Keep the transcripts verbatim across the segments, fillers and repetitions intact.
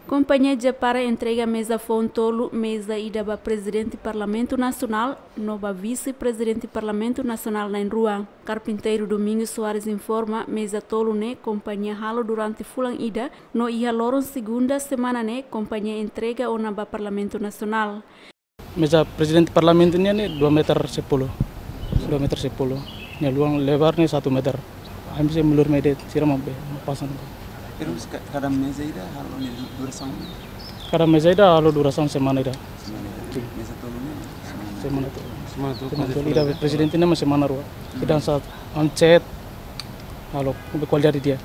Kompañia Japara entrega meza foun tolu, meza ida ba Prezidente Parlamentu Nasionál no ba Vise-Prezidente Parlamentu Nasionál na'in-rua. Karpinteiru Domingos Soares informa, meza tolu ne'e kompañia halo durante fulan ida, no iha loron segunda semana ne'e kompañia entrega ona ba Parlamentu Nasionál. Meza Prezidente Parlamentu nian ne'e dua meter sepuluh. Dua meter sepuluh. Nia luan lebar ne'e satu meter. Ami sei melur mede sira maibé, pasang. Terus ka-, kada meza ida halo nia du-, durasaun? Kada meza ida halo durasaun semana ida. Semana ida. Sin. Meza tolu ne'e semana? Semana tolu. Semana tolu. Semana tolu. Ida Prezidente ne'e mak semana rua. Hmm. Ida sa ancet, halo, kualidade di'ak.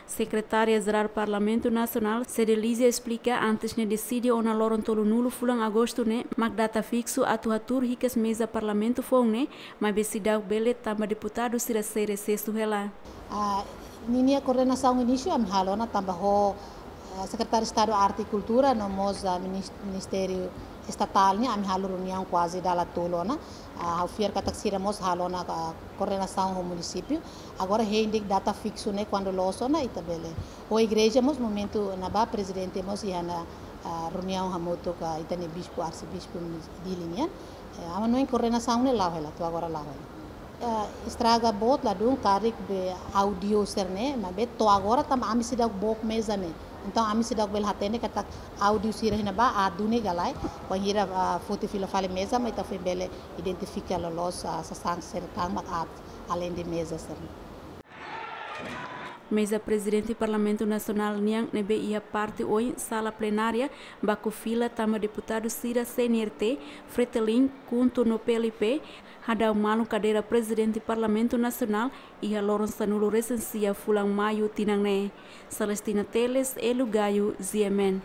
Sekretária Jerál Parlamentu Nasionál, Cedelizia, esplika, antes ne'e deside ona loron tolunulu fulan Agostu ne'e mak data fiksu atu hatuur hikas meza Parlamentu foun ne'e, maibé seidauk bele tanba deputadu sira sei resesu hela. Ah, ninia koordenasaun inísiu ami halo ona tanba ho, ah, Sekretáriu Estadu Arte no Kultura no mós, ah, minis-, Ministériu Estatál nian ami halo reuniaun kuaze dala tolu ona. Ah, ha'u fiar katak sira mós halo ona, ah, koordenasaun ho munisípiu. Agora hein de'it data fiksu ne'e kuandu loos ona ita bele. Ho igreja mós momentu ne'ebá Prezidente mós iha ona, ah, reuniaun hamutuk ho ita-nia bispu, arsebispu Dili nian. Eh, ami hanoin koordenasaun ne'e la'o hela, to'o agora la'o hela. Eh, estraga boot ladún karik be áudiu sira-ne'e, maibé to'o agora tanba ami seidauk book meza ne'e. Entaun ami seidauk bele hatene katak áudiu sira iha ne'ebá aat duni ka lae, bainhira, ah, foti fila fali meza, mak ita foin bele identifika loloos, ah, sasán sira tan mak aat, aleinde meza sira-ne'e. Meza Prezidente Parlamentu Nasionál nian ne'ebé iha parte oin sala plenária, baku fila tanba deputadu sira C N R T, Fretilin, KHUNTO no P L P, hadau malu kadeira Prezidente Parlamentu Nasionál iha loron sanulu-resin-sia fulan Maiu tinan ne'e. Celestina Teles, Elu Gayo, G M N.